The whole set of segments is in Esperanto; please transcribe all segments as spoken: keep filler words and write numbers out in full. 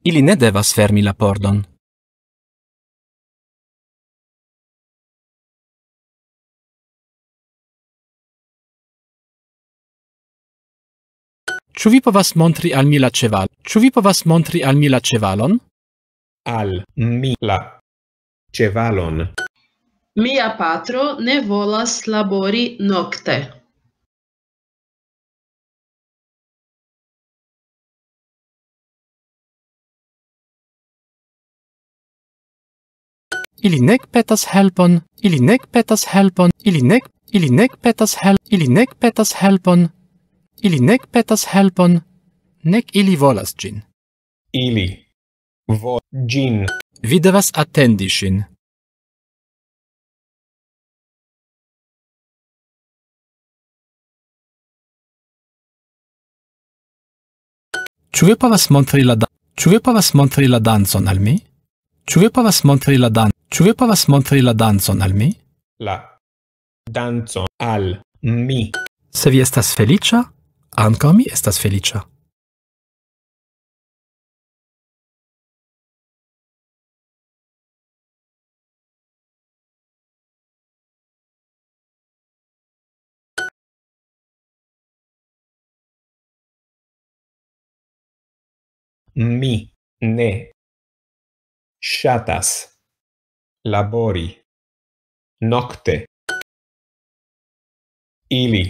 Ili ne devas fermi la pordon. Ĉu vi povas montri al mi la ĉeval-, ĉu vi povas montri al mi la ĉevalon? Al mi la ĉevalon. Mia patro ne volas labori nokte. Ili nek petas helpon, ili nek petas helpon, ili nek, ili nek petas hel-, ili nek petas helpon, ili nek petas helpon, nek ili volas ĝin. Ili vo-, ĝin. Vi devas atendi ŝin. Ĉu vi povas montri la da-, ĉu vi povas montri la dancon al mi? Ĉu vi povas montri la dan-, ĉu vi povas montri la dancon al mi? La dancon al mi. Se vi estas feliĉa, ankaŭ mi estas feliĉa. Mi ne ŝatas labori nokte. Ili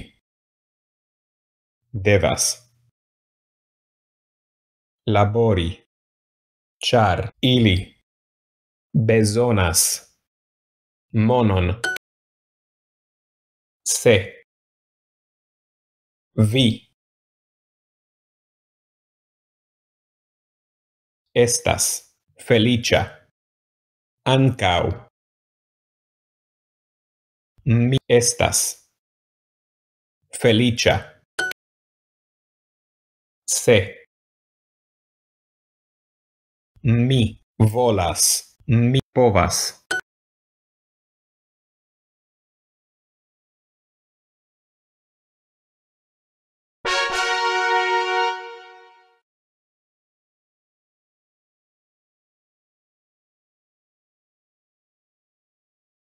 devas labori, ĉar ili bezonas monon. Se vi estas feliĉa, ankaŭ mi estas feliĉa. Se mi volas, mi povas